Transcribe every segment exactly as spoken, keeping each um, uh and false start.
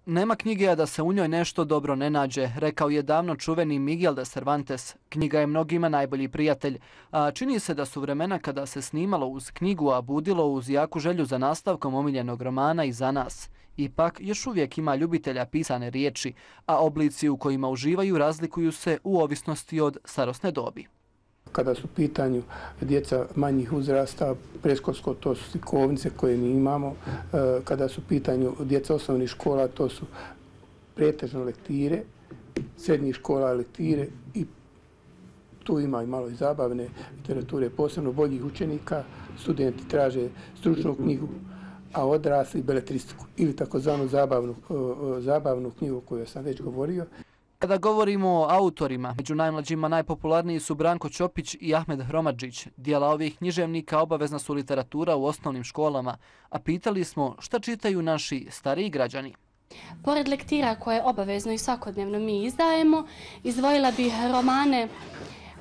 Nema knjige, a da se u njoj nešto dobro ne nađe, rekao je davno čuveni Miguel de Cervantes. Knjiga je mnogima najbolji prijatelj, a čini se da su vremena kada se snimalo uz knjigu, a budilo uz jaku želju za nastavkom omiljenog romana i za nas. Ipak, još uvijek ima ljubitelja pisane riječi, a oblici u kojima uživaju razlikuju se u ovisnosti od starosne dobi. Kada su u pitanju djeca manjih uzrasta, predškolsko, to su slikovnice koje mi imamo. Kada su u pitanju djeca osnovnih škola, to su pretežno lektire, srednjih škola lektire i tu ima i malo i zabavne literature, posebno boljih učenika. Studenti traže stručnu knjigu, a odrasli beletristiku ili takozvanu zabavnu, zabavnu knjigu koju sam već govorio. Kada govorimo o autorima, među najmlađima najpopularniji su Branko Ćopić i Ahmed Hromadžić. Dijela ovih književnika obavezna su literatura u osnovnim školama, a pitali smo šta čitaju naši stariji građani. Pored lektira koje obavezno i svakodnevno mi izdajemo, izdvojila bih romane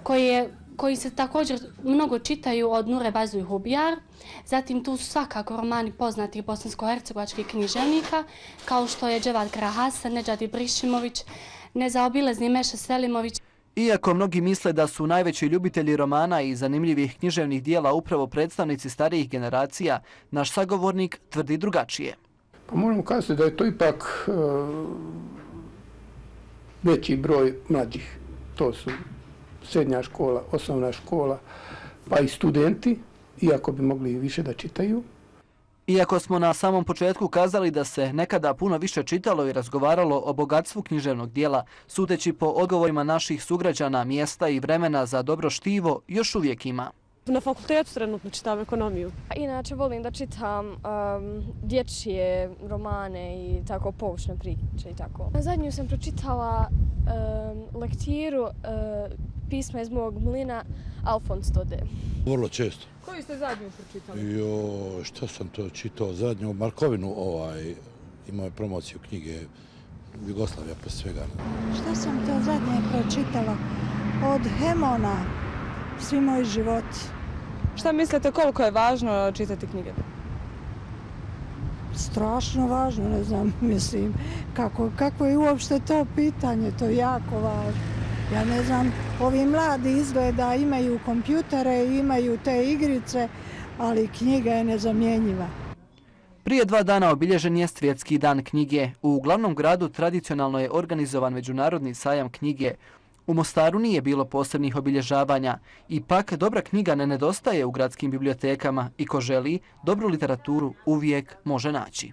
koje koji se također mnogo čitaju od Nure Bazuj Hubijar. Zatim tu su svakako romani poznatih bosansko-hercegovačkih književnika, kao što je Dževad Krahasan, Nedžad Ibrišimović, nezaobilazni Meša Selimović. Iako mnogi misle da su najveći ljubitelji romana i zanimljivih književnih dijela upravo predstavnici starijih generacija, naš sagovornik tvrdi drugačije. Pa moramo kazati da je to ipak uh, veći broj mlađih. To su srednja škola, osnovna škola, pa i studenti, iako bi mogli i više da čitaju. Iako smo na samom početku kazali da se nekada puno više čitalo i razgovaralo o bogatstvu književnog dijela, sudeći po odgovorima naših sugrađana, mjesta i vremena za dobro štivo, još uvijek ima. Na fakultetu trenutno čitam ekonomiju. Inače volim da čitam um, dječje romane i tako poučne priče i tako. Zadnju sam pročitala um, lektiru uh, pisma iz mog mlina Alfons Dode. Vrlo često. Koju ste zadnju pročitali? Jo, što sam to čitao? Zadnju Markovinu, ovaj, imao je promociju knjige Jugoslavija po svega. Što sam to zadnje pročitala? Od Hemona, Svi moji životi. Šta mislite koliko je važno čitati knjige? Strašno važno, ne znam, mislim, kako, kako je uopšte to pitanje, to je jako važno. Ja ne znam, ovi mladi izgleda imaju kompjutere, imaju te igrice, ali knjiga je nezamjenjiva. Prije dva dana obilježen je Svjetski dan knjige. U glavnom gradu tradicionalno je organizovan Međunarodni sajam knjige. U Mostaru nije bilo posebnih obilježavanja. Ipak, dobra knjiga ne nedostaje u gradskim bibliotekama i ko želi, dobru literaturu uvijek može naći.